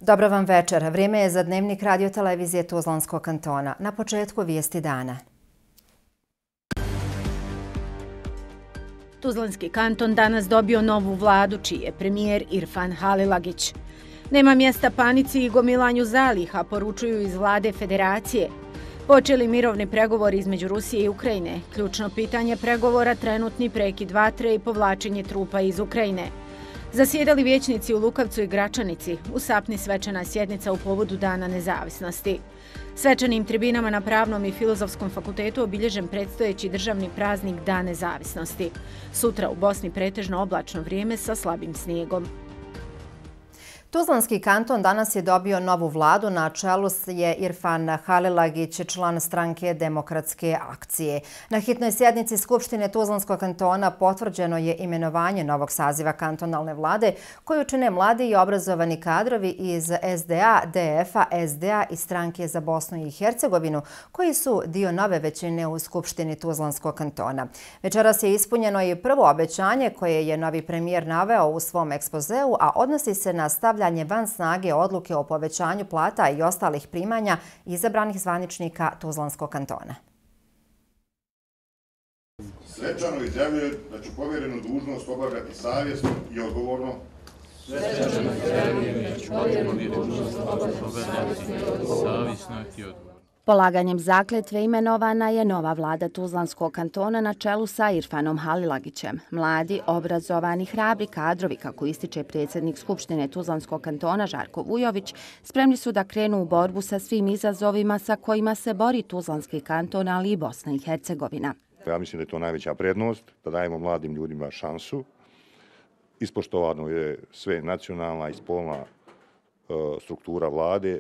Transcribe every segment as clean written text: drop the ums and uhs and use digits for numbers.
Dobro vam večer. Vrijeme je za dnevnik radio-televizije Tuzlanskog kantona. Na početku vijesti dana. Tuzlanski kanton danas dobio novu vladu, čiji je premijer Irfan Halilagić. Nema mjesta panici i gomilanju zaliha, poručuju iz vlade federacije. Počeli mirovni pregovori između Rusije i Ukrajine. Ključno pitanje pregovora trenutni prekid vatre i povlačenje trupa iz Ukrajine. Zasjedali vijećnici u Lukavcu i Gračanici. U Sapni svečana sjednica u povodu Dana nezavisnosti. Svečanim tribinama na Pravnom i Filozofskom fakultetu obilježen predstojeći državni praznik Dan nezavisnosti. Sutra u Bosni pretežno oblačno vrijeme sa slabim snijegom. Tuzlanski kanton danas je dobio novu vladu, na čelu je Irfan Halilagić, član stranke Demokratske akcije. Na hitnoj sjednici Skupštine Tuzlanskog kantona potvrđeno je imenovanje novog saziva kantonalne vlade, koju čine mladi i obrazovani kadrovi iz SDA, DF-a, SDA i stranke za Bosnu i Hercegovinu, koji su dio nove većine u Skupštini Tuzlanskog kantona. Večeras je ispunjeno i prvo obećanje koje je novi premijer naveo u svom ekspozeu, a odnosi se na stavljanje van snage odluke o povećanju plata i ostalih primanja izabranih zvaničnika Tuzlanskog kantona. Svečano izjavljujem da ću povjerenu dužnost obavljati savjesno i odgovorno. Svečano izjavljujem da ću povjerenu dužnost obavljati savjesno i odgovorno. Polaganjem zakletve imenovana je nova vlada Tuzlanskog kantona na čelu sa Irfanom Halilagićem. Mladi, obrazovani, hrabri kadrovi, kako ističe predsjednik Skupštine Tuzlanskog kantona Žarko Vujović, spremni su da krenu u borbu sa svim izazovima sa kojima se bori Tuzlanski kanton, ali i Bosna i Hercegovina. Ja mislim da je to najveća prednost, da dajemo mladim ljudima šansu. Ispoštovano je sve nacionalna i spolna struktura vlade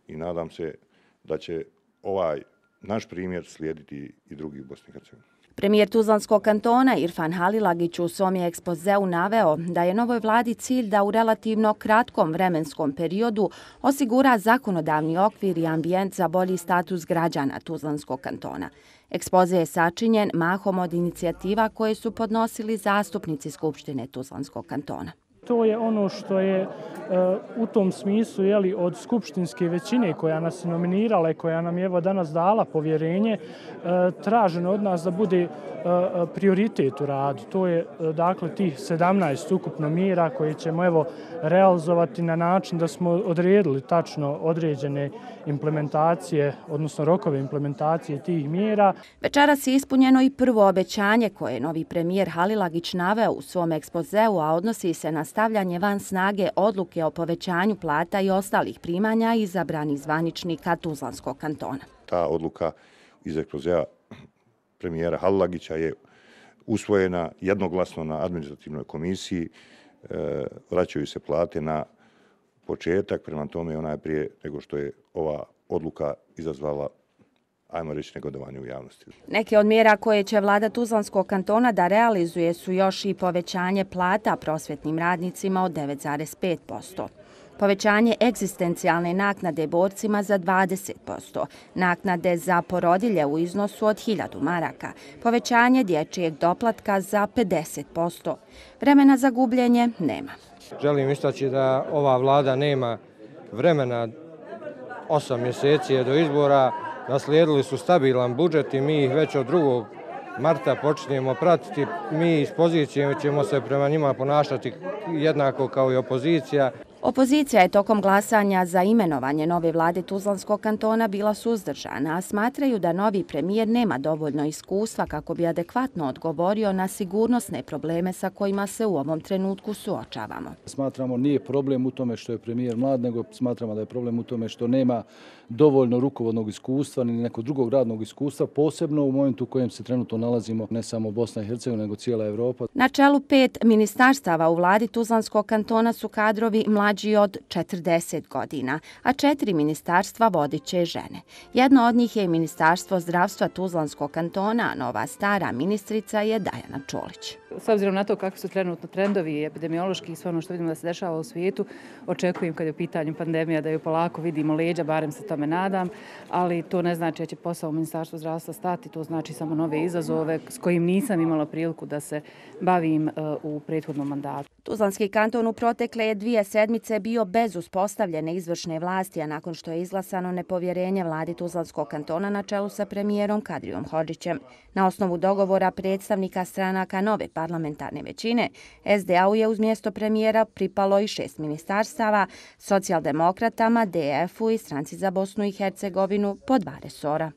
i nadam se da će ovaj naš primjer slijediti i drugi u Bosni i Hercegovini. Premijer Tuzlanskog kantona Irfan Halilagić u svom je ekspozeu naveo da je novoj vladi cilj da u relativno kratkom vremenskom periodu osigura zakonodavni okvir i ambijent za bolji status građana Tuzlanskog kantona. Ekspoze je sačinjen mahom od inicijativa koje su podnosili zastupnici Skupštine Tuzlanskog kantona. To je ono što je u tom smislu od skupštinske većine koja nas je nominirala i koja nam je danas dala povjerenje, traženo od nas da bude prioritet u radu. To je dakle tih 17 ukupno mjera koje ćemo realizovati na način da smo odredili tačno određene implementacije, odnosno rokove implementacije tih mjera. Večeras je ispunjeno i prvo obećanje koje je novi premijer Halilagić naveo u svom ekspozeu, a odnosi se na stavljanje van snage odluke o povećanju plata i ostalih primanja izabranih zvaničnika Tuzlanskog kantona. Ta odluka iz ekspozea premijera Halilagića je usvojena jednoglasno na administrativnoj komisiji. Vraćaju se plate na početak, prema tome ona je prije nego što je ova odluka izazvala, ajmo reći, negodovanje u javnosti. Neke od mjera koje će vlada Tuzlanskog kantona da realizuje su još i povećanje plata prosvjetnim radnicima od 9,5%. Povećanje egzistencijalne naknade borcima za 20%, naknade za porodilje u iznosu od 1000 maraka, povećanje dječjeg doplatka za 50%. Vremena za gubljenje nema. Želim istaći da ova vlada nema vremena, 8 mjeseci je do izbora, naslijedili su stabilan budžet i mi ih već od 2. marta počinjemo pratiti. Mi iz pozicije ćemo se prema njima ponašati jednako kao i opozicija. Opozicija je tokom glasanja za imenovanje nove vlade Tuzlanskog kantona bila suzdržana, a smatraju da novi premijer nema dovoljno iskustva kako bi adekvatno odgovorio na sigurnosne probleme sa kojima se u ovom trenutku suočavamo. Smatramo nije problem u tome što je premijer mlad, nego smatramo da je problem u tome što nema dovoljno rukovodnog iskustva ni nekog drugog radnog iskustva, posebno u momentu u kojem se trenutno nalazimo ne samo Bosna i Hercegovina, nego cijela Evropa. Na čelu 5 ministarstava u vladi Tuzlanskog kantona su kadrovi mlađi od 40 godina, a 4 ministarstva vodit će žene. Jedno od njih je Ministarstvo zdravstva Tuzlanskog kantona, a nova stara ministrica je Dajana Čolić. S obzirom na to kakvi su trenutno trendovi epidemiološki i sve ono što vidimo da se dešava u svijetu, očekujem kad je u pitanju pandemija da ju polako vidimo leđa, barem se tome nadam, ali to ne znači da će posao u Ministarstvu zdravstva stati, to znači samo nove izazove s kojim nisam imala priliku da se bavim u prethodnom mandatu. Tuzlanski kanton u protekle je 2 sedmice bio bez uspostavljene izvršne vlasti, a nakon što je izglasano nepovjerenje vladi Tuzlanskog kantona na čelu sa premijerom Kadrijom Hodžićem. Na osnovu dogovora predstavnika stranaka nove parlamentarne većine, SDA-u je uz mjesto premijera pripalo i 6 ministarstava, socijaldemokratama, DF-u i Stranci za Bosnu i Hercegovinu po 2 resora.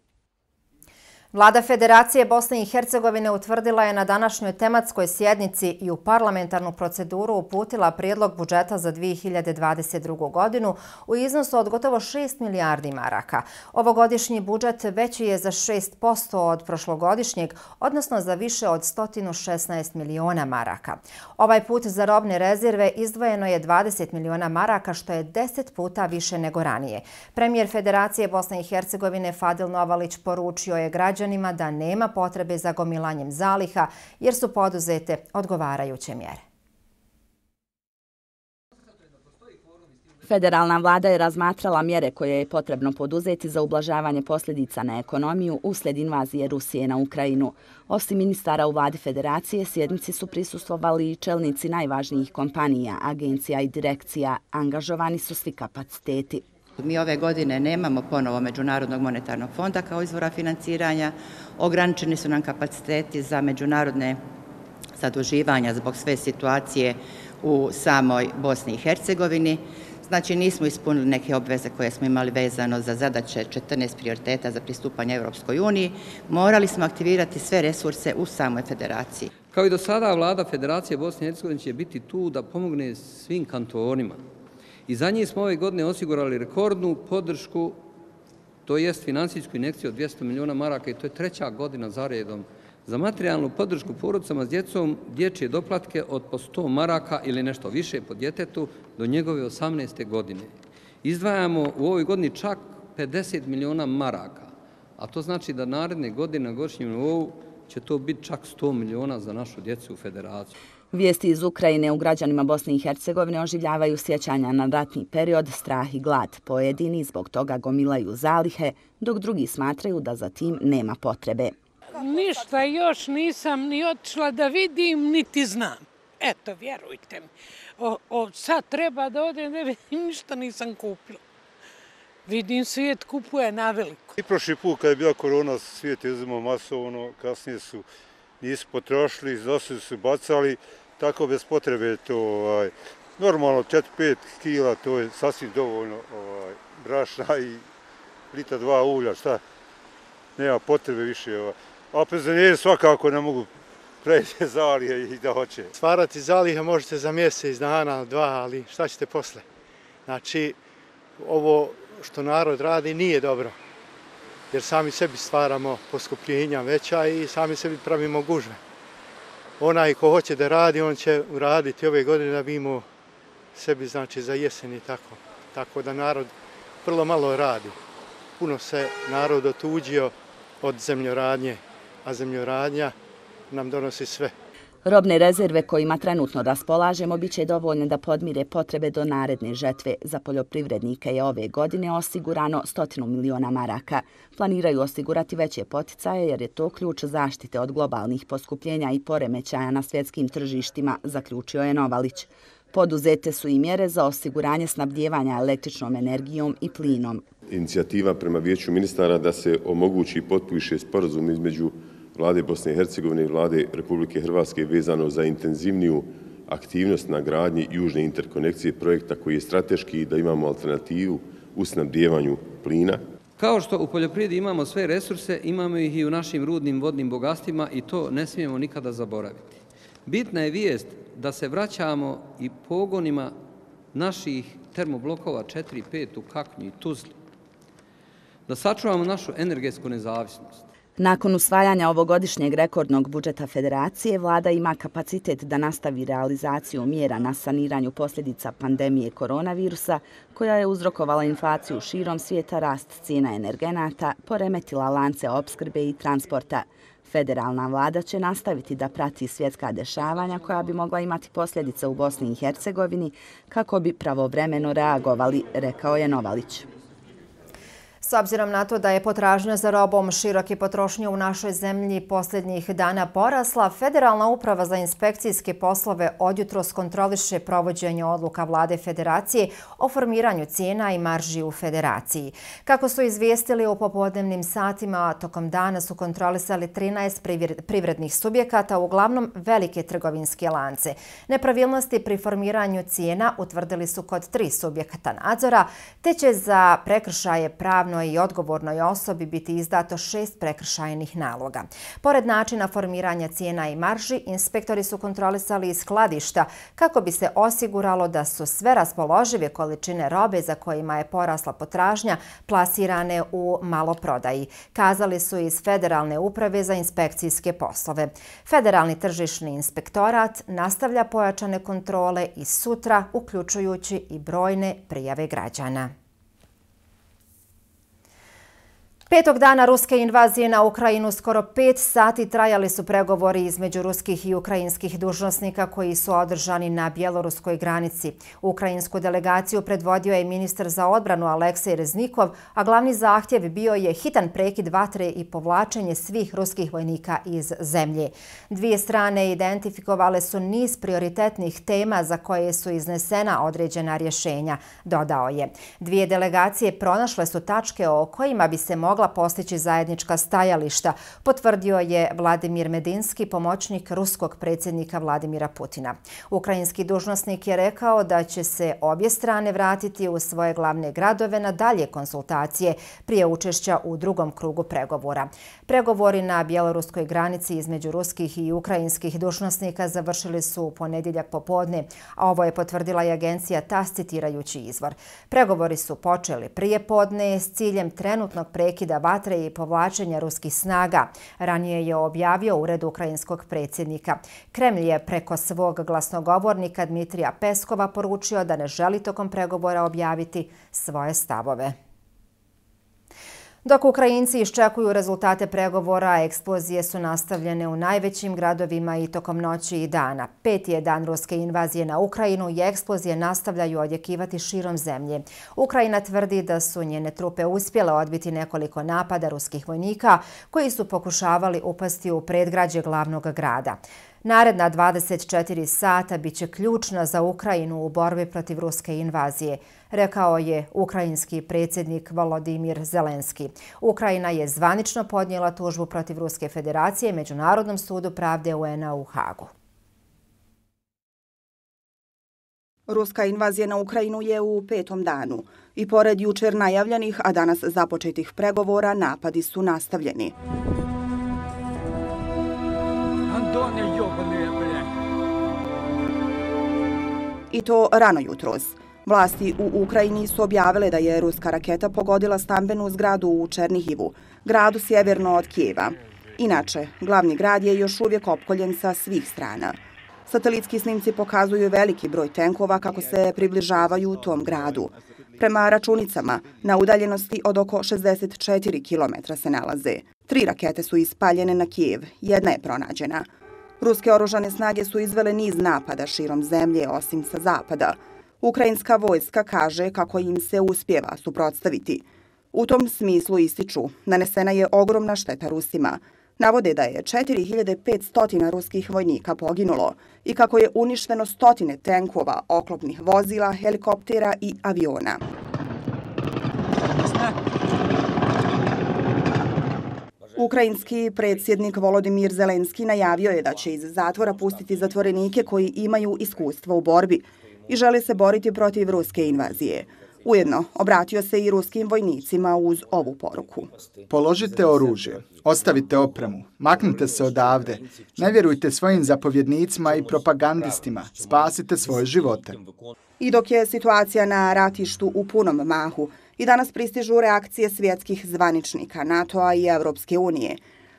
Vlada Federacije Bosne i Hercegovine utvrdila je na današnjoj tematskoj sjednici i u parlamentarnu proceduru uputila prijedlog budžeta za 2022. godinu u iznosu od gotovo 6 milijardi maraka. Ovogodišnji budžet veći je za 6% od prošlogodišnjeg, odnosno za više od 116 miliona maraka. Ovaj put za robne rezerve izdvojeno je 20 miliona maraka, što je 10 puta više nego ranije. Premijer Federacije Bosne i Hercegovine Fadil Novalić poručio je građanima da nema potrebe za gomilanjem zaliha jer su poduzete odgovarajuće mjere. Federalna vlada je razmatrala mjere koje je potrebno poduzeti za ublažavanje posljedica na ekonomiju uslijed invazije Rusije na Ukrajinu. Osim ministara u vladi Federacije, sjednici su prisustvovali i čelnici najvažnijih kompanija, agencija i direkcija. Angažovani su svi kapaciteti. Mi ove godine nemamo ponovo Međunarodnog monetarnog fonda kao izvora financiranja. Ograničeni su nam kapaciteti za međunarodne zaduživanja zbog sve situacije u samoj Bosni i Hercegovini. Znači nismo ispunili neke obveze koje smo imali vezano za zadaće 14 prioriteta za pristupanje Europskoj uniji. Morali smo aktivirati sve resurse u samoj federaciji. Kao i do sada, vlada Federacije Bosne i Hercegovine će biti tu da pomogne svim kantonima. I za njih smo ove godine osigurali rekordnu podršku, to jest financijsku injekciju od 200 miliona maraka i to je 3. godina za redom. Za materijalnu podršku porodicama s djecom, dječje doplatke od po 100 maraka ili nešto više po djetetu do njegove 18. godine. Izdvajamo u ovoj godini čak 50 miliona maraka, a to znači da naredne godine na godišnjem nivou će to biti čak 100 miliona za našu djecu u federaciju. Vijesti iz Ukrajine u građanima Bosne i Hercegovine oživljavaju sjećanja na ratni period, strah i glad. Pojedini zbog toga gomilaju zalihe, dok drugi smatraju da za tim nema potrebe. Ništa još nisam ni otišla da vidim, niti znam. Eto, vjerujte mi. Sad treba da odem, ne vidim, ništa nisam kupila. Vidim, svijet kupuje na veliko. I prošli put kad je bila korona, svijet je uzimao masovno, kasnije nisu potrošili, iznosili su bacali, tako bez potrebe to normalno 4-5 kila, to je sasvim dovoljno brašna i litra 2 ulja, šta? Nema potrebe više. A penzioneri svakako ne mogu preći zalihe i da hoće. Stvarati zalihe možete za mjesec dana, 2, ali šta ćete posle? Znači, ovo što narod radi nije dobro, jer sami sebi stvaramo poskupljenja veća i sami sebi pravimo gužve. Onaj ko hoće da radi, on će uraditi ove godine da bi imao sebi, znači, za jesen i tako. Tako da narod vrlo malo radi. Puno se narod otuđio od zemljoradnje, a zemljoradnja nam donosi sve. Robne rezerve kojima trenutno raspolažemo bit će dovoljne da podmire potrebe do naredne žetve. Za poljoprivrednike je ove godine osigurano 100 miliona maraka. Planiraju osigurati veće poticaje jer je to ključ zaštite od globalnih poskupljenja i poremećaja na svjetskim tržištima, zaključio je Novalić. Poduzete su i mjere za osiguranje snabdijevanja električnom energijom i plinom. Inicijativa prema Vijeću ministara da se omogući i potpiše sporazum između Vlade Bosne i Hercegovine i Vlade Republike Hrvatske vezano za intenzivniju aktivnost na gradnji južne interkonekcije projekta koji je strateški i da imamo alternativu u snabdijevanju plina. Kao što u poljoprivredi imamo sve resurse, imamo ih i u našim rudnim vodnim bogatstvima i to ne smijemo nikada zaboraviti. Bitna je vijest da se vraćamo i pogonima naših termoblokova 4 i 5 u Kaknju i Tuzli. Da sačuvamo našu energetsku nezavisnost. Nakon usvajanja ovogodišnjeg rekordnog budžeta Federacije, vlada ima kapacitet da nastavi realizaciju mjera na saniranju posljedica pandemije koronavirusa, koja je uzrokovala inflaciju širom svijeta, rast cijena energenata, poremetila lance opskrbe i transporta. Federalna vlada će nastaviti da prati svjetska dešavanja koja bi mogla imati posljedice u Bosni i Hercegovini kako bi pravovremeno reagovali, rekao je Novalić. S obzirom na to da je potražnja za robom široke potrošnje u našoj zemlji posljednjih dana porasla, Federalna uprava za inspekcijske poslove odjutros kontroliše provođenje odluka Vlade Federacije o formiranju cijena i marži u Federaciji. Kako su izvijestili u popodnevnim satima, tokom dana su kontrolisali 13 privrednih subjekata, uglavnom velike trgovinske lance. Nepravilnosti pri formiranju cijena utvrdili su kod 3 subjekata nadzora, te će za prekršaje pravno i odgovornoj osobi biti izdato 6 prekršajnih naloga. Pored načina formiranja cijena i marži, inspektori su kontrolisali i skladišta kako bi se osiguralo da su sve raspoložive količine robe za kojima je porasla potražnja plasirane u maloprodaji, kazali su iz Federalne uprave za inspekcijske poslove. Federalni tržišni inspektorat nastavlja pojačane kontrole i sutra, uključujući i brojne prijave građana. 5. dana ruske invazije na Ukrajinu skoro 5 sati trajali su pregovori između ruskih i ukrajinskih dužnosnika koji su održani na bjeloruskoj granici. Ukrajinsku delegaciju predvodio je ministar za odbranu Aleksej Reznikov, a glavni zahtjev bio je hitan prekid vatre i povlačenje svih ruskih vojnika iz zemlje. Dvije strane identifikovale su niz prioritetnih tema za koje su iznesena određena rješenja, dodao je. Dvije delegacije pronašle su tačke o kojima bi se mogla postići zajednička stajališta, potvrdio je Vladimir Medinski, pomoćnik ruskog predsjednika Vladimira Putina. Ukrajinski dužnosnik je rekao da će se obje strane vratiti u svoje glavne gradove na dalje konsultacije prije učešća u drugom krugu pregovora. Pregovori na bjeloruskoj granici između ruskih i ukrajinskih dužnosnika završili su u ponedjeljak popodne, a ovo je potvrdila i agencija TASS citirajući izvor. Pregovori su počeli prije podne s ciljem trenutnog prekida vatre i povlačenja ruskih snaga. Ranije je objavio ured ukrajinskog predsjednika. Kremlj je preko svog glasnogovornika Dmitrija Peskova poručio da ne želi tokom pregovora objaviti svoje stavove. Dok Ukrajinci iščekuju rezultate pregovora, eksplozije su nastavljene u najvećim gradovima i tokom noći i dana. 5. je dan ruske invazije na Ukrajinu i eksplozije nastavljaju odjekivati širom zemlje. Ukrajina tvrdi da su njene trupe uspjele odbiti nekoliko napada ruskih vojnika koji su pokušavali upasti u predgrađe glavnog grada. Naredna 24 sata biće ključna za Ukrajinu u borbi protiv ruske invazije, rekao je ukrajinski predsjednik Volodymyr Zelenski. Ukrajina je zvanično podnijela tužbu protiv Ruske federacije Međunarodnom sudu pravde UN-a u Hagu. Ruska invazija na Ukrajinu je u 5. danu i pored jučer najavljenih, a danas započetih pregovora, napadi su nastavljeni. I to rano jutros. Vlasti u Ukrajini su objavile da je ruska raketa pogodila stambenu zgradu u Černihivu, gradu sjeverno od Kijeva. Inače, glavni grad je još uvijek opkoljen sa svih strana. Satelitski snimci pokazuju veliki broj tenkova kako se približavaju tom gradu. Prema računicama, na udaljenosti od oko 64 km se nalaze. 3 rakete su ispaljene na Kijev, jedna je pronađena. Ruske oružane snage su izvele niz napada širom zemlje, osim sa zapada. Ukrajinska vojska kaže kako im se uspjeva suprotstaviti. U tom smislu ističu, nanesena je ogromna šteta Rusima. Navode da je 4500 ruskih vojnika poginulo i kako je uništeno stotine tenkova, oklopnih vozila, helikoptera i aviona. Ukrajinski predsjednik Volodymyr Zelenski najavio je da će iz zatvora pustiti zatvorenike koji imaju iskustvo u borbi i žele se boriti protiv ruske invazije. Ujedno, obratio se i ruskim vojnicima uz ovu poruku. Položite oružje, ostavite opremu, maknite se odavde, ne vjerujte svojim zapovjednicima i propagandistima, spasite svoje živote. I dok je situacija na ratištu u punom mahu, i danas pristižu reakcije svjetskih zvaničnika NATO-a i Evropske unije.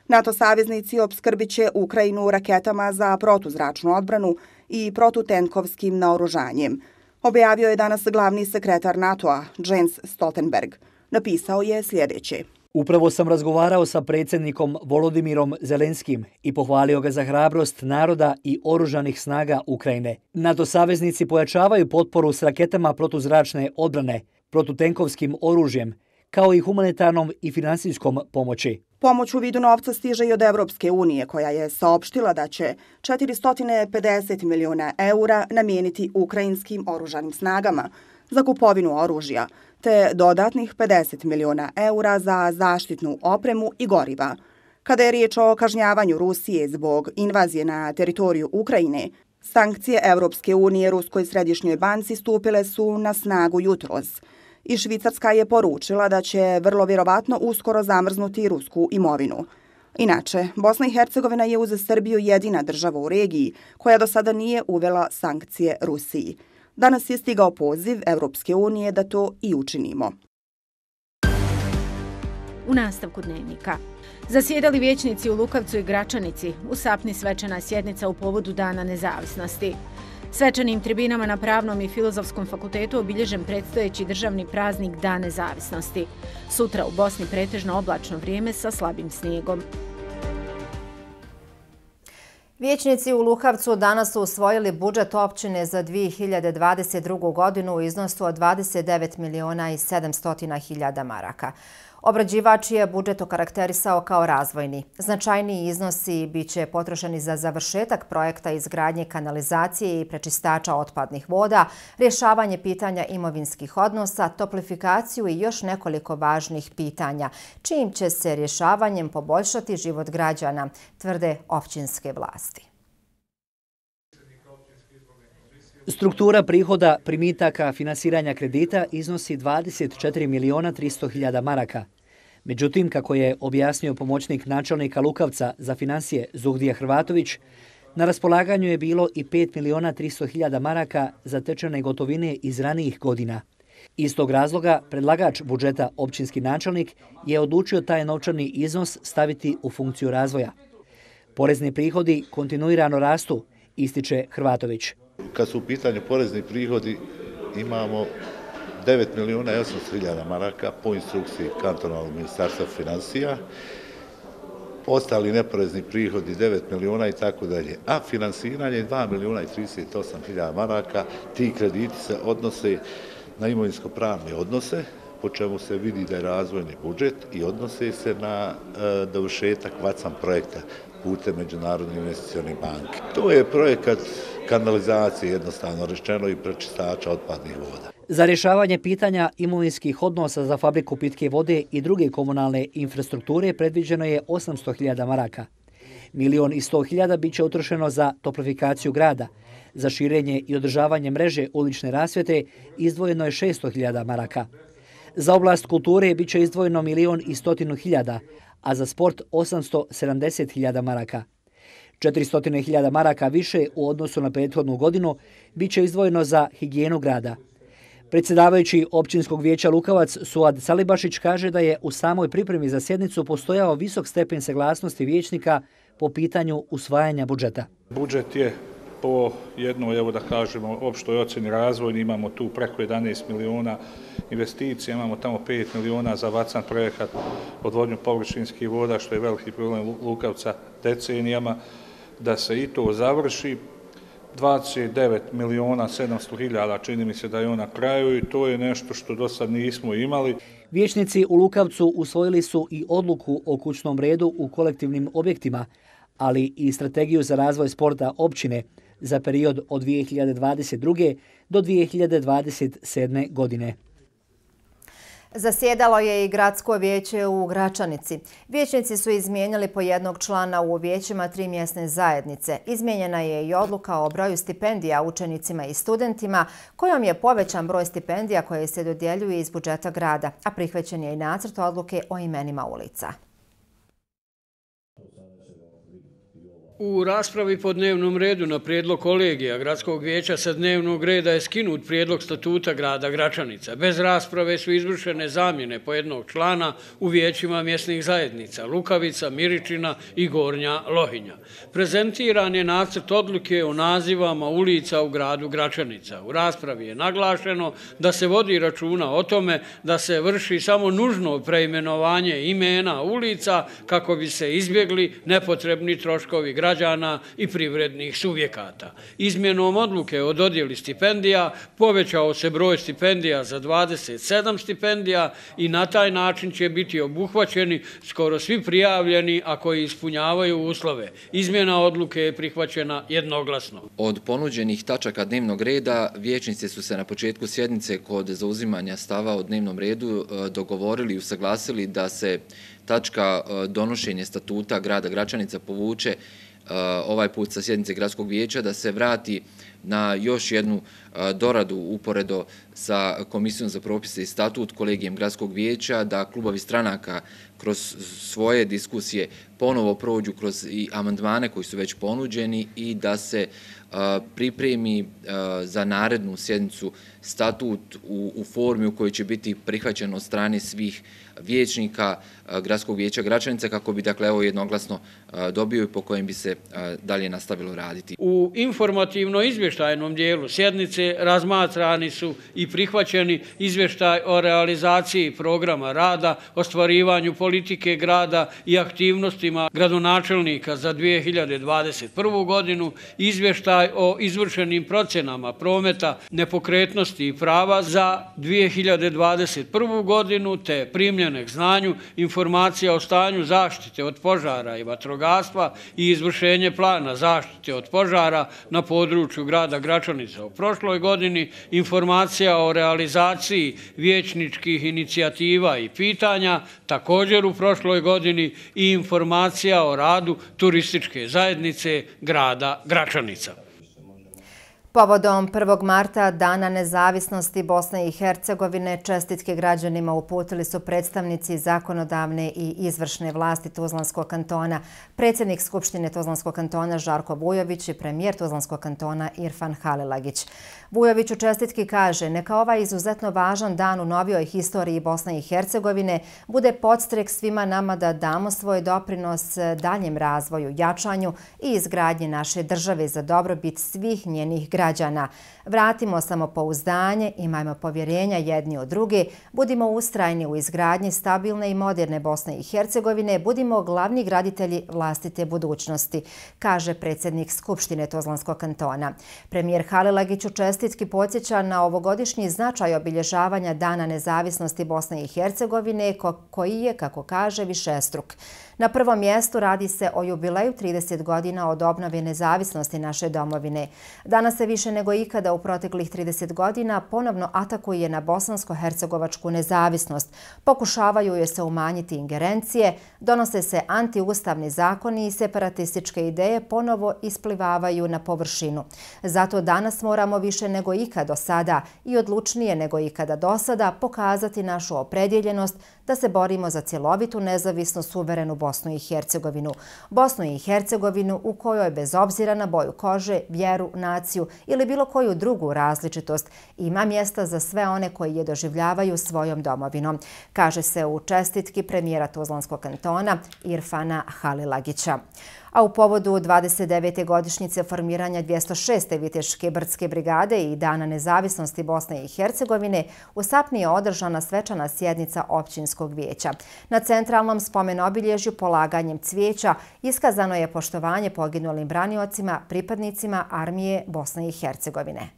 NATO saveznici opskrbit će Ukrajinu raketama za protuzračnu odbranu i protutenkovskim naoružanjem. Objavio je danas glavni sekretar NATO-a, Jens Stoltenberg. Napisao je sljedeće. Upravo sam razgovarao sa predsjednikom Volodimirom Zelenskim i pohvalio ga za hrabrost naroda i oružanih snaga Ukrajine. NATO saveznici pojačavaju potporu s raketama protuzračne odbrane, protutenkovskim oružjem, kao i humanitarnom i finansijskom pomoći. Pomoć u vidu novca stiže i od Evropske unije, koja je saopštila da će 450 miliona eura namijeniti ukrajinskim oružanim snagama za kupovinu oružja, te dodatnih 50 miliona eura za zaštitnu opremu i goriva. Kada je riječ o kažnjavanju Rusije zbog invazije na teritoriju Ukrajine, sankcije Evropske unije Ruskoj središnjoj banci stupile su na snagu jutros. I Švicarska je poručila da će vrlo vjerovatno uskoro zamrznuti rusku imovinu. Inače, Bosna i Hercegovina je uz Srbiju jedina država u regiji koja do sada nije uvela sankcije Rusiji. Danas je stigao poziv Evropske unije da to i učinimo. U nastavku dnevnika. Zasjedali vijećnici u Lukavcu i Gračanici. U Sapni svečana sjednica u povodu Dana nezavisnosti. Svečanim tribinama na Pravnom i Filozofskom fakultetu obilježen predstojeći državni praznik Dan nezavisnosti. Sutra u Bosni pretežno oblačno vrijeme sa slabim snijegom. Vijećnici u Lukavcu danas su usvojili budžet općine za 2022. godinu u iznosu od 29 miliona i 700 hiljada maraka. Obrađivač je budžet okarakterisao kao razvojni. Značajniji iznosi biće potrošeni za završetak projekta izgradnje kanalizacije i prečistača otpadnih voda, rješavanje pitanja imovinskih odnosa, toplifikaciju i još nekoliko važnih pitanja, čijim će se rješavanjem poboljšati život građana, tvrde općinske vlasti. Struktura prihoda, primitaka, finansiranja kredita iznosi 24 miliona 300 hiljada maraka. Međutim, kako je objasnio pomoćnik načelnika Lukavca za financije Zuhdija Hrvatović, na raspolaganju je bilo i 5 miliona 300 hiljada maraka zatečene gotovine iz ranijih godina. Iz tog razloga, predlagač budžeta općinski načelnik je odlučio taj novčani iznos staviti u funkciju razvoja. Porezni prihodi kontinuirano rastu, ističe Hrvatović. Kad su u pitanju porezni prihodi, imamo 9 miliona i 800 hiljada maraka po instrukciji kantonalnog ministarstva financija, ostali neporezni prihodi 9 miliona i tako dalje, a finansiranje 2 miliona i 38 hiljada maraka. Ti krediti se odnose na imovinsko-pravne odnose, po čemu se vidi da je razvojni budžet, i odnose se na dovršetak VACAM projekta putem Međunarodne investicione banke. To je projekat kanalizacije, jednostavno rečeno, i prečistača otpadnih voda. Za rješavanje pitanja imovinskih odnosa za fabriku pitke vode i druge komunalne infrastrukture predviđeno je 800 hiljada maraka. 1 100 000 bit će utrošeno za toplifikaciju grada. Za širenje i održavanje mreže ulične rasvjete izdvojeno je 600 hiljada maraka. Za oblast kulture bit će izdvojeno 1 100 000, a za sport 870 hiljada maraka. 400 hiljada maraka više u odnosu na prethodnu godinu bit će izdvojeno za higijenu grada. Predsjedavajući općinskog vijeća Lukavac Suad Salibašić kaže da je u samoj pripremi za sjednicu postojao visok stepen saglasnosti vijećnika po pitanju usvajanja budžeta. Budžet je po jednoj, evo da kažemo, opštoj ocjeni razvojni. Imamo tu preko 11 miliona investicija, imamo tamo 5 miliona za VACAM projekat odvodnju površinskih voda, što je veliki problem Lukavca decenijama, da se i to završi. 29 miliona 700 hiljada, čini mi se da je on na kraju, i to je nešto što do sad nismo imali. Vijećnici u Lukavcu usvojili su i odluku o kućnom redu u kolektivnim objektima, ali i strategiju za razvoj sporta općine za period od 2022. do 2027. godine. Zasjedalo je i gradsko vijeće u Gračanici. Vijećnici su izmijenjali po jednog člana u vijećima 3 mjesne zajednice. Izmijenjena je i odluka o broju stipendija učenicima i studentima, kojom je povećan broj stipendija koje se dodjeljuju iz budžeta grada, a prihvaćen je i nacrt odluke o imenima ulica. U raspravi po dnevnom redu na prijedlog kolegija Gradskog vijeća sa dnevnog reda je skinut prijedlog statuta grada Gračanica. Bez rasprave su izvršene zamjene po jednog člana u vijećima mjesnih zajednica Lukavica, Miričina i Gornja Lohinja. Prezentiran je nacrt odluke o nazivama ulica u gradu Gračanica. U raspravi je naglašeno da se vodi računa o tome da se vrši samo nužno preimenovanje imena ulica kako bi se izbjegli nepotrebni troškovi građana i privrednih subjekata. Izmjenom odluke o dodjeli stipendija povećao se broj stipendija za 27 stipendija i na taj način će biti obuhvaćeni skoro svi prijavljeni, a koji ispunjavaju uslove. Izmjena odluke je prihvaćena jednoglasno. Od ponuđenih tačaka dnevnog reda vijećnici su se na početku sjednice kod zauzimanja stava o dnevnom redu dogovorili i usaglasili da se tačka donošenje statuta grada Gračanica povuče ovaj put sa sjednice Gradskog vijeća, da se vrati na još jednu doradu uporedo sa Komisijom za propise i statut kolegijem Gradskog vijeća, da klubovi stranaka kroz svoje diskusije ponovo prođu kroz i amandmane koji su već ponuđeni i da se pripremi za narednu sjednicu statut u formi u kojoj će biti prihvaćen od strane svih vijećnika Gradskog vijeća Gračanica kako bi, dakle, evo jednoglasno dobio i po kojem bi se dalje nastavilo raditi. U informativno-izvještajnom dijelu sjednice razmatrani su i prihvaćeni izvještaj o realizaciji programa rada, ostvarivanju politike grada i aktivnostima gradonačelnika za 2021. godinu, izvještaj o izvršenim procenama prometa, nepokretnosti i prava za 2021. godinu, te primljene k znanju informacija o stanju zaštite od požara i vatrogastva i izvršenje plana zaštite od požara na području grada Gračanica. U prošloj godini informacija o realizaciji vijećničkih inicijativa i pitanja, također u prošloj godini i informacija o radu turističke zajednice grada Gračanica. Povodom 1. marta, Dana nezavisnosti Bosne i Hercegovine, čestitke građanima uputili su predstavnici zakonodavne i izvršne vlasti Tuzlanskog kantona, predsjednik Skupštine Tuzlanskog kantona Žarko Vujović i premijer Tuzlanskog kantona Irfan Halilagić. Vujović u čestitki kaže: neka ovaj izuzetno važan dan u novijoj historiji Bosne i Hercegovine bude podstrek svima nama da damo svoj doprinos daljem razvoju, jačanju i izgradnji naše države za dobrobit svih njenih građana. Vratimo samopouzdanje, imajmo povjerenja jedni od druge, budimo ustrajni u izgradnji stabilne i moderne Bosne i Hercegovine, budimo glavni graditelji vlastite budućnosti, kaže predsjednik Skupštine Tuzlanskog kantona. Premijer Halilagić u čestitki podsjeća na ovogodišnji značaj obilježavanja Dana nezavisnosti Bosne i Hercegovine, koji je, kako kaže, višestruk. Na prvom mjestu radi se o jubileju 30 godina od obnove nezavisnosti naše domovine. Danas se više nego ikada u proteklih 30 godina ponovno atakuje na bosansko-hercegovačku nezavisnost. Pokušavaju joj se umanjiti ingerencije, donose se antiustavni zakoni i separatističke ideje ponovo isplivavaju na površinu. Zato danas moramo više nego ikad do sada i odlučnije nego ikada do sada pokazati našu opredjeljenost da se borimo za cjelovitu, nezavisnu, suverenu Bosnu i Hercegovinu. Bosnu i Hercegovinu u kojoj, bez obzira na boju kože, vjeru, naciju ili bilo koju drugu različitost, ima mjesta za sve one koji je doživljavaju svojom domovinom, kaže se u čestitki premijera Tuzlanskog kantona Irfana Halilagića. A u povodu 29. godišnjice formiranja 206. Viteške brdske brigade i Dana nezavisnosti Bosne i Hercegovine u Sapni je održana svečana sjednica općinskog vijeća. Na centralnom spomen-obilježju polaganjem cvijeća iskazano je poštovanje poginulim braniocima, pripadnicima armije Bosne i Hercegovine.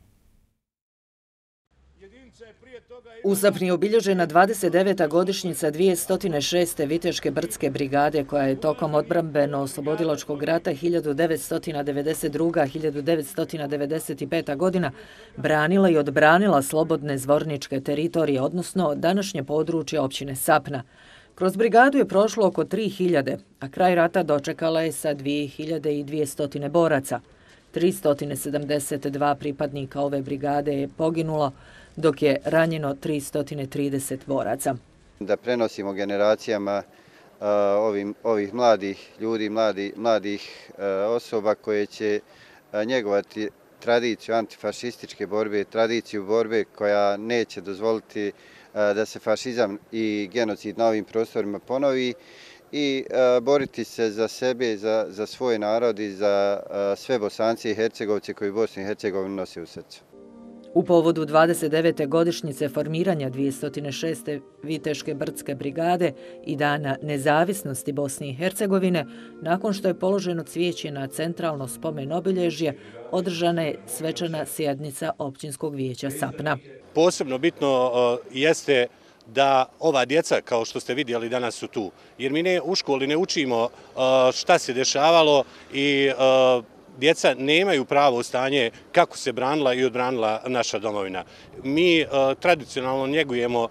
U Sapni je obilježena 29. godišnjica 206. Viteške brdske brigade koja je tokom odbrambeno-oslobodilačkog rata 1992-1995. godina branila i odbranila slobodne zvorničke teritorije, odnosno današnje područje općine Sapna. Kroz brigadu je prošlo oko 3000, a kraj rata dočekala je sa 2200 boraca. 372 pripadnika ove brigade je poginulo, dok je ranjeno 330 boraca. Da prenosimo generacijama ovih mladih ljudi, mladih osoba koje će njegovati tradiciju antifašističke borbe, tradiciju borbe koja neće dozvoliti da se fašizam i genocid na ovim prostorima ponovi i boriti se za sebe, za svoj narod i za sve Bosance i Hercegovce koji Bosnu i Hercegovinu nose u srcu. U povodu 29. godišnjice formiranja 206. Viteške brdske brigade i Dana nezavisnosti Bosne i Hercegovine, nakon što je položeno cvijeće na centralno spomen obilježje, održana je svečana sjednica općinskog vijeća Sapna. Posebno bitno jeste da ova djeca, kao što ste vidjeli, danas su tu. Jer mi u školi ne učimo šta se dešavalo i djeca nemaju pravo stanje kako se branila i odbranila naša domovina. Mi tradicionalno njegujemo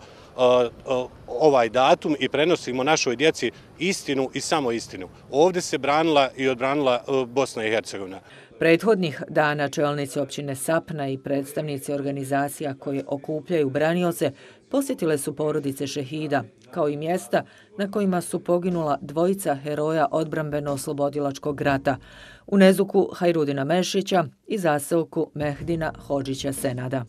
ovaj datum i prenosimo našoj djeci istinu i samo istinu. Ovdje se branila i odbranila Bosna i Hercegovina. Prethodnih dana čelnici općine Sapna i predstavnici organizacija koje okupljaju branioce posjetile su porodice šehida, kao i mjesta na kojima su poginula dvojica heroja odbrambeno-oslobodilačkog rata, u Nezuku Hajrudina Mešića i zaseoku Mehdina Hodžića Senada.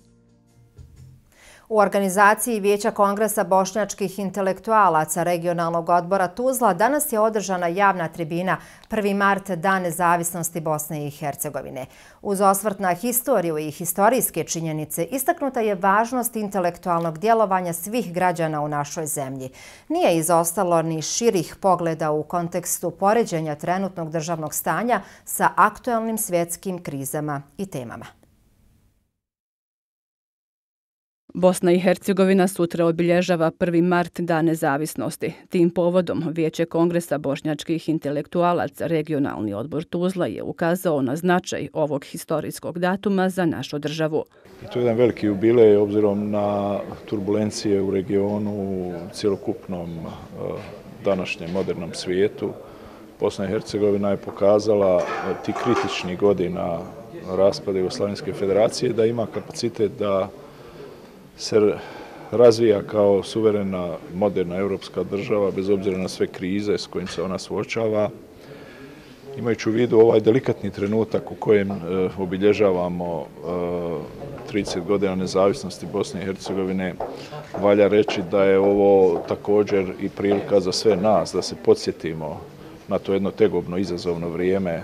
U organizaciji Vijeća Kongresa bošnjačkih intelektualaca regionalnog odbora Tuzla danas je održana javna tribina 1. mart, Dan nezavisnosti Bosne i Hercegovine. Uz osvrt na historiju i historijske činjenice istaknuta je važnost intelektualnog djelovanja svih građana u našoj zemlji. Nije izostalo ni širih pogleda u kontekstu poređenja trenutnog državnog stanja sa aktuelnim svjetskim krizama i temama. Bosna i Hercegovina sutra obilježava 1. mart, Dan nezavisnosti. Tim povodom Vijeće Kongresa bošnjačkih intelektualaca regionalni odbor Tuzla je ukazao na značaj ovog historijskog datuma za našu državu. To je jedan veliki jubilej obzirom na turbulencije u regionu, u cjelokupnom današnjem modernom svijetu. Bosna i Hercegovina je pokazala ti kritičnih godina raspada Jugoslavijske federacije da ima kapacitet da se razvija kao suverena, moderna evropska država, bez obzira na sve krize s kojim se ona suočava. Imajući u vidu ovaj delikatni trenutak u kojem obilježavamo 30 godina nezavisnosti Bosne i Hercegovine, valja reći da je ovo također i prilika za sve nas da se podsjetimo na to jedno tegobno, izazovno vrijeme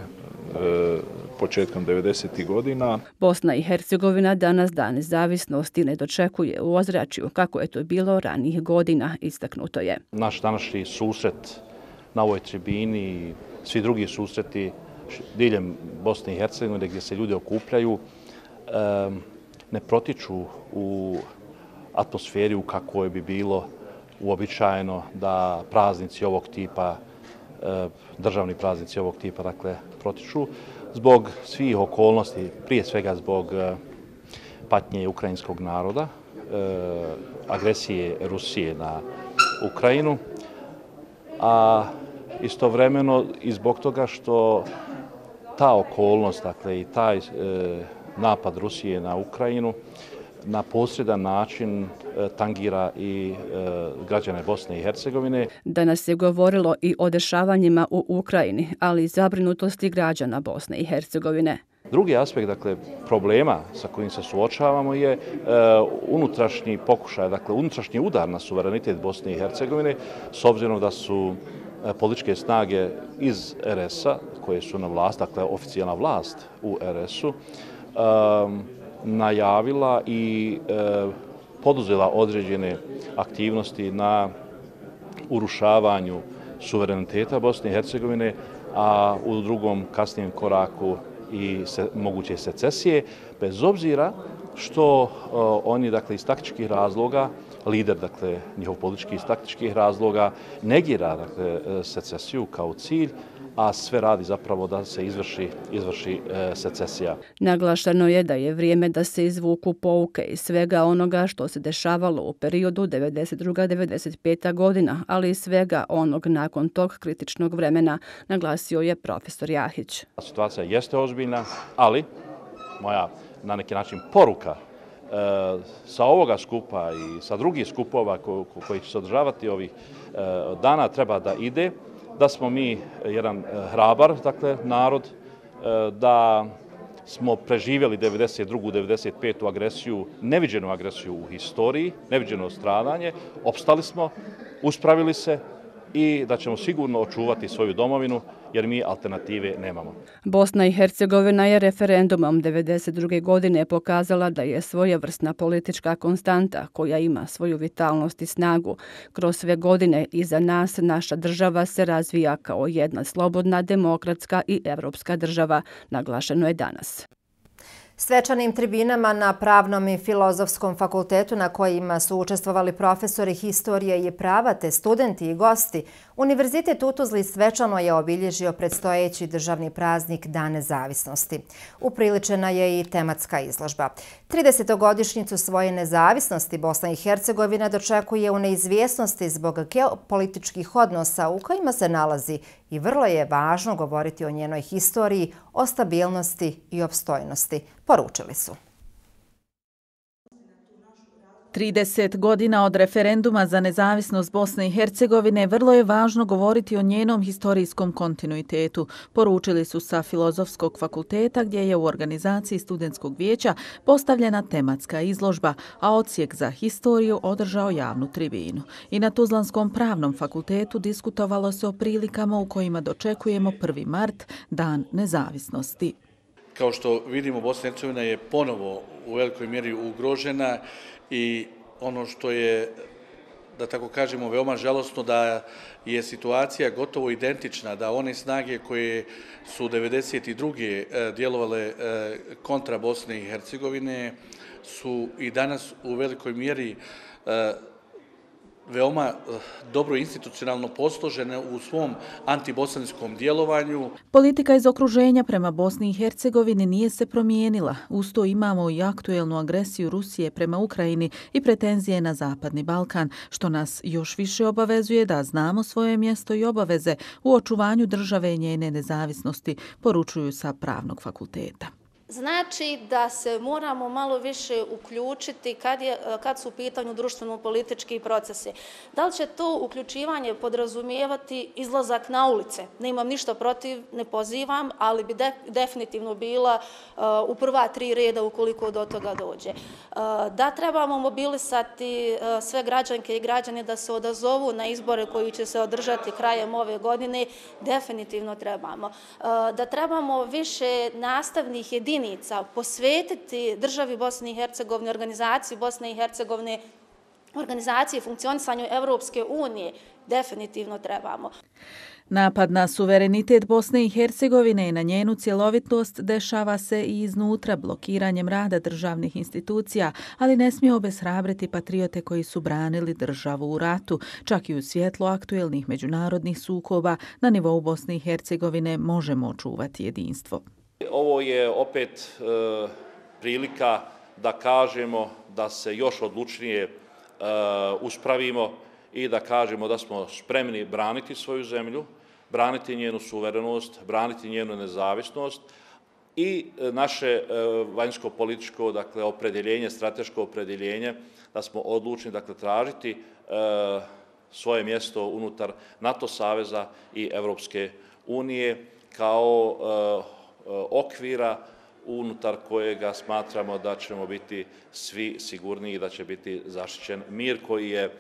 početkom 90. godina. Bosna i Hercegovina danas Dan nezavisnosti ne dočekuje u ozračju kako je to bilo ranijih godina, istaknuto je. Naš današnji susret na ovoj tribini i svi drugi susreti diljem Bosne i Hercegovine gdje se ljudi okupljaju ne protiču u atmosferi u kakvoj bi bilo uobičajeno da praznici ovog tipa, državni praznici ovog tipa, dakle, protiču zbog svih okolnosti, prije svega zbog patnje ukrajinskog naroda, agresije Rusije na Ukrajinu, a istovremeno i zbog toga što ta okolnost, dakle, i taj napad Rusije na Ukrajinu na posredan način tangira i građane Bosne i Hercegovine. Danas se govorilo i o dešavanjima u Ukrajini, ali i zabrinutosti građana Bosne i Hercegovine. Drugi aspekt, dakle, problema sa kojim se suočavamo je unutrašnji pokušaj, dakle, unutrašnji udar na suverenitet Bosne i Hercegovine, s obzirom da su političke snage iz RS-a, koje su na vlast, dakle, oficijalna vlast u RS-u, najavila i poduzela određene aktivnosti na urušavanju suvereniteta Bosne i Hercegovine, a u drugom kasnijem koraku i moguće secesije, bez obzira što oni, dakle, iz taktičkih razloga, lider, dakle, njihov politički iz taktičkih razloga, negira, dakle, secesiju kao cilj, a sve radi zapravo da se izvrši secesija. Naglašeno je da je vrijeme da se izvuku pouke iz svega onoga što se dešavalo u periodu 92-95. godina, ali i svega onog nakon tog kritičnog vremena, naglasio je profesor Jahić. Situacija jeste ozbiljna, ali moja na neki način poruka sa ovoga skupa i sa drugih skupova koji će se održavati ovih dana treba da ide, da smo mi jedan hrabar, dakle, narod, da smo preživjeli 92. 95. agresiju, neviđenu agresiju u historiji, neviđeno stradanje, opstali smo, uspravili se i da ćemo sigurno očuvati svoju domovinu, jer mi alternative nemamo. Bosna i Hercegovina je referendumom 1992. godine pokazala da je svojevrsna politička konstanta koja ima svoju vitalnost i snagu. Kroz sve godine iza nas naša država se razvija kao jedna slobodna, demokratska i evropska država, naglašeno je danas. Svečanim tribinama na Pravnom i Filozofskom fakultetu na kojima su učestvovali profesori historije i prava te studenti i gosti, Univerzitet u Tuzli svečano je obilježio predstojeći državni praznik Dan nezavisnosti. Upriličena je i tematska izložba. 30-godišnjicu svoje nezavisnosti Bosna i Hercegovina dočekuje u neizvjesnosti zbog geopolitičkih odnosa u kojima se nalazi i vrlo je važno govoriti o njenoj historiji, o stabilnosti i opstojnosti, poručili su. 30 godina od referenduma za nezavisnost Bosne i Hercegovine vrlo je važno govoriti o njenom historijskom kontinuitetu, poručili su sa Filozofskog fakulteta gdje je u organizaciji studentskog vijeća postavljena tematska izložba, a odsjek za historiju održao javnu tribinu. I na Tuzlanskom pravnom fakultetu diskutovalo se o prilikama u kojima dočekujemo 1. mart, Dan nezavisnosti. Kao što vidimo, Bosna i Hercegovina je ponovo u velikoj mjeri ugrožena i ono što je, da tako kažemo, veoma žalosno da je situacija gotovo identična, da one snage koje su 1992. djelovale kontra Bosne i Hercegovine su i danas u velikoj mjeri veoma dobro institucionalno posložene u svom antibosanskom djelovanju. Politika iz okruženja prema Bosni i Hercegovini nije se promijenila. Uz to imamo i aktuelnu agresiju Rusije prema Ukrajini i pretenzije na Zapadni Balkan, što nas još više obavezuje da znamo svoje mjesto i obaveze u očuvanju države i njene nezavisnosti, poručuju sa Pravnog fakulteta. Znači da se moramo malo više uključiti kad su u pitanju društveno-politički procesi. Da li će to uključivanje podrazumijevati izlazak na ulice? Ne imam ništa protiv, ne pozivam, ali bi definitivno bila u prva 3 reda ukoliko do toga dođe. Da trebamo mobilisati sve građanke i građane da se odazovu na izbore koji će se održati krajem ove godine, definitivno trebamo. Da trebamo više nastavnih jedinica posvetiti državi Bosne i Hercegovine, organizaciji Bosne i Hercegovine, organizaciji funkcionisanju Evropske unije, definitivno trebamo. Napad na suverenitet Bosne i Hercegovine i na njenu cjelovitost dešava se i iznutra blokiranjem rada državnih institucija, ali ne smije obeshrabriti patriote koji su branili državu u ratu. Čak i u svjetlu aktuelnih međunarodnih sukoba na nivou Bosne i Hercegovine možemo očuvati jedinstvo. Ovo je opet prilika da kažemo da se još odlučnije uspravimo i da kažemo da smo spremni braniti svoju zemlju, braniti njenu suverenost, braniti njenu nezavisnost i naše vanjsko-političko, dakle, opredjeljenje, strateško opredjeljenje, da smo odlučni, dakle, tražiti svoje mjesto unutar NATO saveza i Evropske unije kao okvira unutar kojega smatramo da ćemo biti svi sigurniji i da će biti zaštićen mir koji je,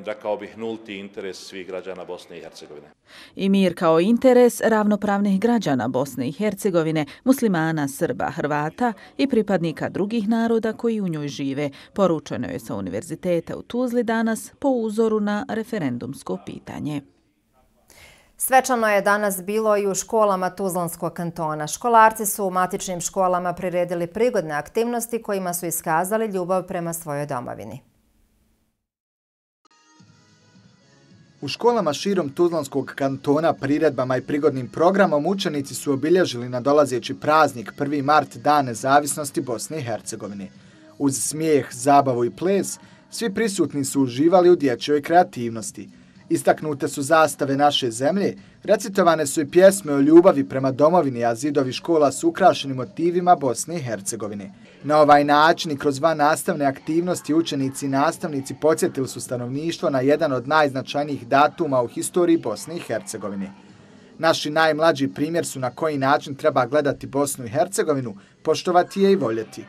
rekao bih, nulti interes svih građana Bosne i Hercegovine. I mir kao interes ravnopravnih građana Bosne i Hercegovine, muslimana, Srba, Hrvata i pripadnika drugih naroda koji u njoj žive, poručeno je sa Univerziteta u Tuzli danas po uzoru na referendumsko pitanje. Svečano je danas bilo i u školama Tuzlanskog kantona. Školarci su u matičnim školama priredili prigodne aktivnosti kojima su iskazali ljubav prema svojoj domovini. U školama širom Tuzlanskog kantona priredbama i prigodnim programom učenici su obilježili nadolazeći praznik 1. mart, Dan nezavisnosti Bosne i Hercegovine. Uz smijeh, zabavu i ples, svi prisutni su uživali u dječjoj kreativnosti. Istaknute su zastave naše zemlje, recitovane su i pjesme o ljubavi prema domovini, a zidovi škola su ukrašeni motivima Bosne i Hercegovine. Na ovaj način i kroz vannastavne aktivnosti učenici i nastavnici podsjetili su stanovništvo na jedan od najznačajnijih datuma u historiji Bosne i Hercegovine. Naši najmlađi primjer su na koji način treba gledati Bosnu i Hercegovinu, poštovati je i voljeti.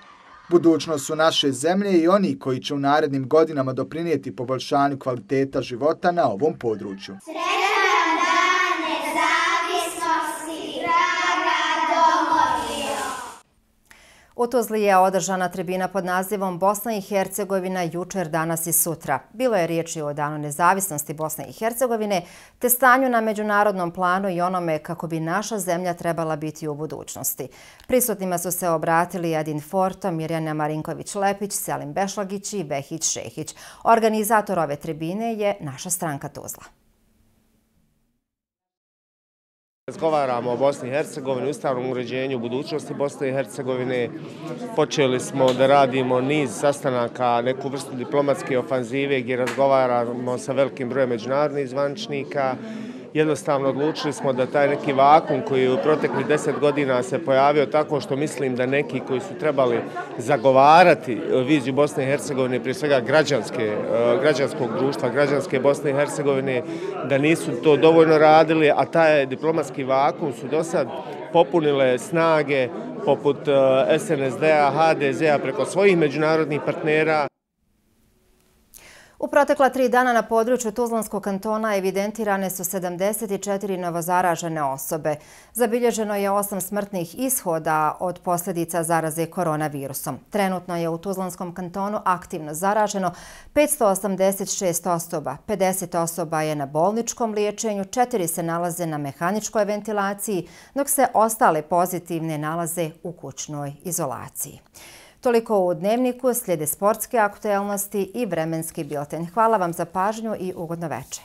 Budućnost su naše zemlje i oni koji će u narednim godinama doprinijeti poboljšanju kvaliteta života na ovom području. Sretan dan nezavisnosti, draga domovino! U Tuzli je održana tribina pod nazivom Bosna i Hercegovina jučer, danas i sutra. Bilo je riječi o Danu nezavisnosti Bosne i Hercegovine, te stanju na međunarodnom planu i onome kako bi naša zemlja trebala biti u budućnosti. Prisutnima su se obratili Adin Forto, Mirjana Marinković-Lepić, Selim Bešlagić i Behić Šehić. Organizator ove tribine je naša stranka Tuzla. Razgovaramo o Bosni i Hercegovini, ustavnom uređenju budućnosti Bosne i Hercegovine. Počeli smo da radimo niz sastanaka, neku vrstu diplomatske ofanzive gdje razgovaramo sa velikim brojem međunarodnih zvaničnika. Jednostavno odlučili smo da taj neki vakum koji je u proteklih 10 godina se pojavio tako što mislim da neki koji su trebali zagovarati viziju Bosne i Hercegovine, prije svega građanskog društva, građanske Bosne i Hercegovine, da nisu to dovoljno radili, a taj diplomatski vakum su do sad popunile snage poput SNSD-a, HDZ-a preko svojih međunarodnih partnera. U protekla 3 dana na području Tuzlanskog kantona evidentirane su 74 novozaražene osobe. Zabilježeno je 8 smrtnih ishoda od posljedica zaraze koronavirusom. Trenutno je u Tuzlanskom kantonu aktivno zaraženo 586 osoba. 50 osoba je na bolničkom liječenju, 4 se nalaze na mehaničkoj ventilaciji, dok se ostale pozitivne nalaze u kućnoj izolaciji. Toliko u Dnevniku, slijede sportske aktuelnosti i vremenski bilten. Hvala vam za pažnju i ugodno večer.